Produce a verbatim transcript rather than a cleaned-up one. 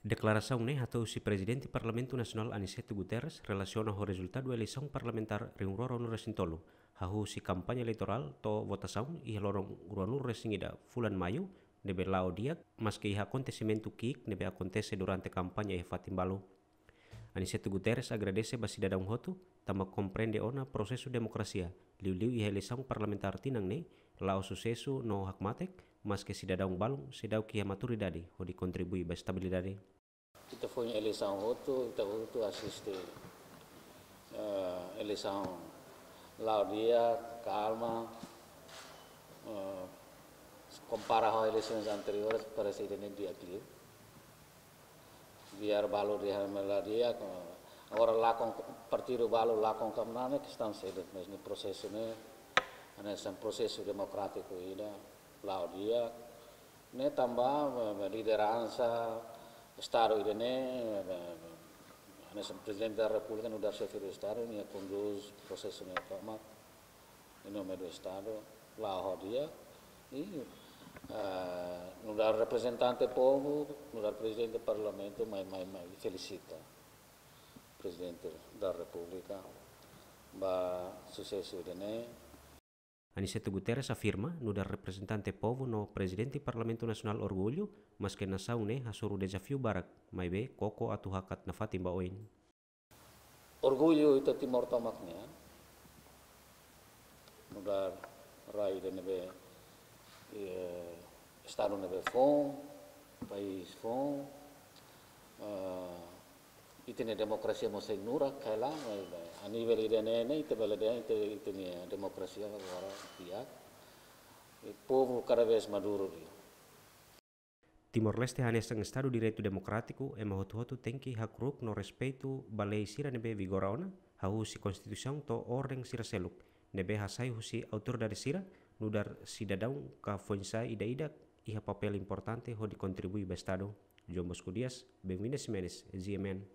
Deklarasaun ne'e hato'o husi Prezidente Parlamentu Nasionál Aniceto Guterres relasiona ho rezultadu eleisaun parlamentár rihun rua ruanulu-resin-tolu, hahú husi kampaña eleitorál to'o votasaun iha loron ruanulu-resin-ida fulan Maiu, ne'ebé la'o di'ak, maske iha akontesimentu ki'ik ne'ebé akontese durante kampaña iha fatin balu. Aniceto Guterres agradese ba sidadaun hotu, tanba komprende ona prosesu demokrasia, liuliu iha eleisaun parlamentár tinan ne'e, la'o susesu no hakmatek, maske sidadaun balun seidauk iha maturidade hodi kontribui ba estabilidade. Ita foin eleisaun hotu, ita hotu asiste, eh, eleisaun la'o di'ak, kalma, eh, kompara ho eleisaun anteriores, parese ida-ne'e di'ak liu. Biar balu dehan mak la'o di'ak, agora lakon, partidu balu lakon ka manán ne'e kestaun seluk, mas ne'e prosesu ne'e, hanesan prosesu demokrátiku ida, la'o di'ak, ne'e tanba, eh, lideransa Estadu ida-ne'e, eh, hanesan Prezidente da Repúblika nu'udar Xefe do Estadu, nia kondús prosesu ne'e tomak, em nome do Estado, la'o di'ak, i, eh, nu'udar reprezentante povu, nu'udar Prezidente Parlamentu, mai, mai, mai felisita Prezidente da Repúblika ba susesu ida-ne'e. Aniceto Guterres afirma, nu'udar reprezentante povu no Prezidente Parlamentu Nasionál orgullu, maske nasaun ne'e hasoru dezafiu barak, maibé koko atu hakat nafatin ba oin. Orgullu ita Timor tomak nian, nu'udar rai ida ne'ebé, eh, Estadu ne'ebé foun, país foun, eh, ita-nia demokrasia mós sei nurak, kaila, eh, a nivel ida-ne'e, ne'e, ita bele dehan, ita, ita-nia demokrasia agora di'ak, i povu kada vez maduru liu. Timor-Leste hanesan Estadu direitu demokrátiku, ema hotu-hotu tenke hakru'uk no respeitu ba lei sira ne'ebé vigora ona, hahú husi Konstituisaun to'o orden sira seluk, ne'ebé hasai husi autoridade sira, nu'udar sidadaun ka foin-sa'e ida-idak iha papél importante hodi kontribui ba Estadu. João Bosco Dias, Benvinda Ximenes, G M N.